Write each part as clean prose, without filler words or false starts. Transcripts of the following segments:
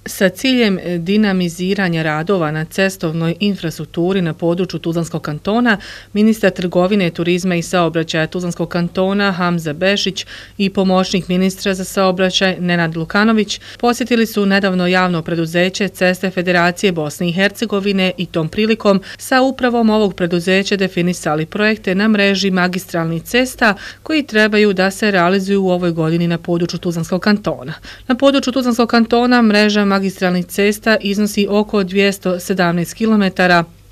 Sa ciljem dinamiziranja radova na cestovnoj infrastrukturi na području Tuzlanskog kantona, ministar trgovine, turizma i saobraćaja Tuzlanskog kantona Hamza Bešić i pomoćnik ministra za saobraćaj Nenad Lukanović posjetili su nedavno javno preduzeće Ceste Federacije Bosne i Hercegovine i tom prilikom sa upravom ovog preduzeća definisali projekte na mreži magistralnih cesta koji trebaju da se realizuju u ovoj godini na području Tuzlanskog kantona. Na području Tuzlanskog kantona mreža magistralnih cesta iznosi oko 217 km,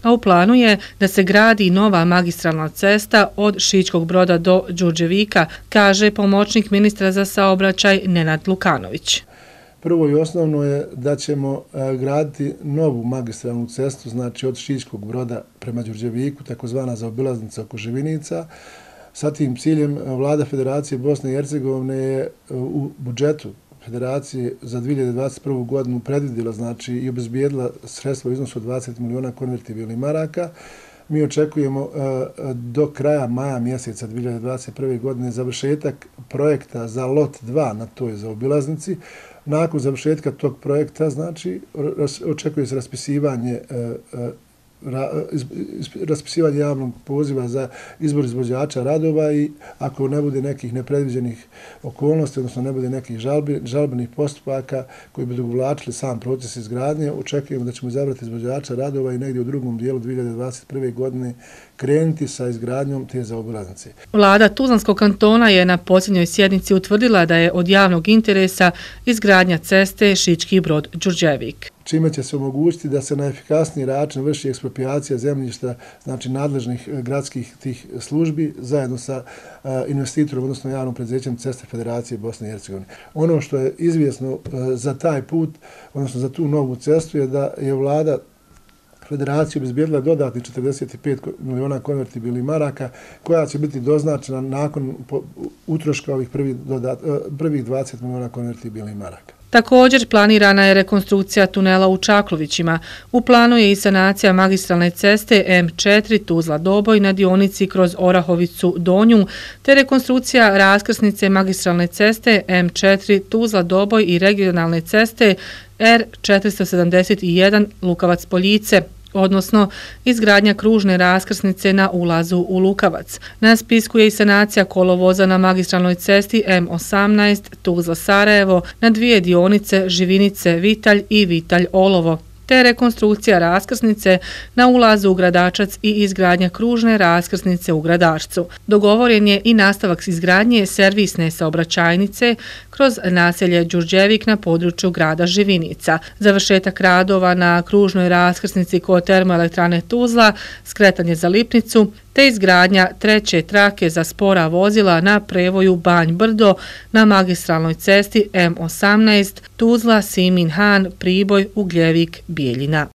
a u planu je da se gradi nova magistralna cesta od Šičkog Broda do Đurđevika, kaže pomoćnik ministra za saobraćaj Nenad Lukanović. Prvo i osnovno je da ćemo graditi novu magistralnu cestu, znači od Šičkog Broda prema Đurđeviku, takozvana zaobilaznica oko Živinica. Sa tim ciljem Vlada Federacije Bosne i Hercegovine je u budžetu Federacije za 2021. godinu predvidjela, znači i obezbijedila sredstva u iznosu od 20 miliona konvertibilnih maraka. Mi očekujemo do kraja maja mjeseca 2021. godine završetak projekta za lot 2 na toj zaobilaznici. Nakon završetka tog projekta, znači, očekuje se raspisivanje javnog poziva za izbor izvođača radova i ako ne bude nekih nepredviđenih okolnosti, odnosno ne bude nekih žalbenih postupaka koji bi odugovlačili sam proces izgradnje, očekujemo da ćemo izabrati izvođača radova i negdje u drugom dijelu 2021. godine krenuti sa izgradnjom te zaobilaznice. Vlada Tuzlanskog kantona je na posljednjoj sjednici utvrdila da je od javnog interesa izgradnja ceste Šički Brod Đurđevik, čime će se omogućiti da se na efikasniji način vrši eksproprijacija zemljišta, znači nadležnih gradskih tih službi, zajedno sa investitorom, odnosno javnom preduzećem Ceste Federacije Bosne i Hercegovine. Ono što je izvjesno za taj put, odnosno za tu novu cestu, je da je Vlada Federacija obezbijedila dodatni 45 miliona konvertibilnih maraka, koja će biti doznačena nakon utroška ovih prvih 20 miliona konvertibilnih maraka. Također planirana je rekonstrukcija tunela u Čaklovićima. U planu je i sanacija magistralne ceste M4 Tuzla-Doboj na dionici kroz Orahovicu Donju, te rekonstrukcija raskrsnice magistralne ceste M4 Tuzla-Doboj i regionalne ceste R471 Lukavac-Poljice, odnosno izgradnja kružne raskrsnice na ulazu u Lukavac. Na spisku je i sanacija kolovoza na magistralnoj cesti M18 Tuzla-Sarajevo na dvije dionice Živinice-Vitalj i Vitalj-Olovo, te rekonstrukcija raskrsnice na ulazu u Gradačac i izgradnja kružne raskrsnice u Gradačcu. Dogovoren je i nastavak izgradnje servisne saobraćajnice kroz naselje Đurđevik na području grada Živinica, završetak radova na kružnoj raskrsnici kod termoelektrane Tuzla, skretanje za Lipnicu, te izgradnja treće trake za spora vozila na prevoju Banj-Brdo na magistralnoj cesti M18 Tuzla-Simin-Han Priboj Ugljevik Bijeljina.